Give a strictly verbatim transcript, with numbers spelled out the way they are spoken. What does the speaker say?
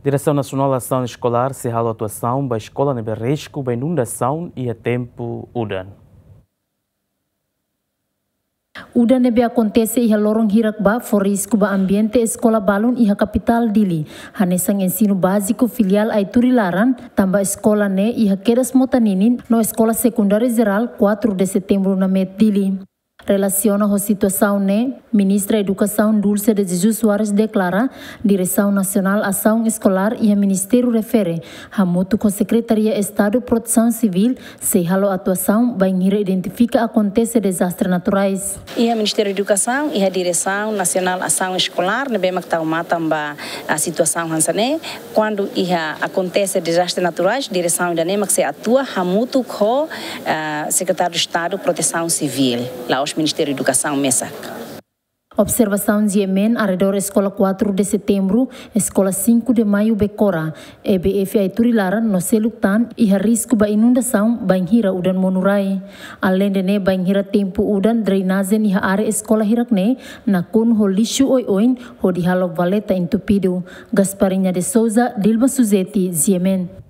Diresaun Nasionál Asaun Eskolár sei halo atuasaun ba eskola ne'ebé risku ba inundasaun iha tempu udan. Udan ne'ebé akontese iha loron hirak ba fó risku ba ambiente eskola balun iha kapitál Dili, hanesan ensinu báziku filiál Aituri Laran, tanba eskola ne'e iha kedas mota ninin, no Eskola Sekundária Jerál quatro de Setembro Namet Dili. Relasiona ho situasaun ne'e, Ministra Edukasaun Dulce de Jesus Soares deklara, Diresaun Nasionál Asaun Eskolár iha ministériu refere, hamutuk ho Sekretaria Estadu Protesaun Sivíl, sei halo atuasaun bainhira identifika akontese dezastre naturais. Iha Ministériu Edukasaun, iha Diresaun Nasionál Asaun Eskolár, ne'ebé mak tau matan ba, ah, situasaun hanesan ne'e, kuandu iha akontese dezastre naturais, diresaun ida-ne'e mak sei atua hamutuk ho, ah, Sekretáriu Estadu Protesaun Sivíl, la'ós Ministériu Edukasaun mesak. Observasaun GMN arredór Eskola quatro de Setembro, Eskola cinco de Maio Becora, E B F Aituri Laran no seluk tan iha risku ba inundasaun bainhira udan monu rai. Aleinde ne'e, bainhira tempu udan, drenajen iha área eskola hirak ne'e nakonu ho lixu oioin hodi halo valeta entupidu. Gasparinha de Souza, Dilma Suzeti, GMN.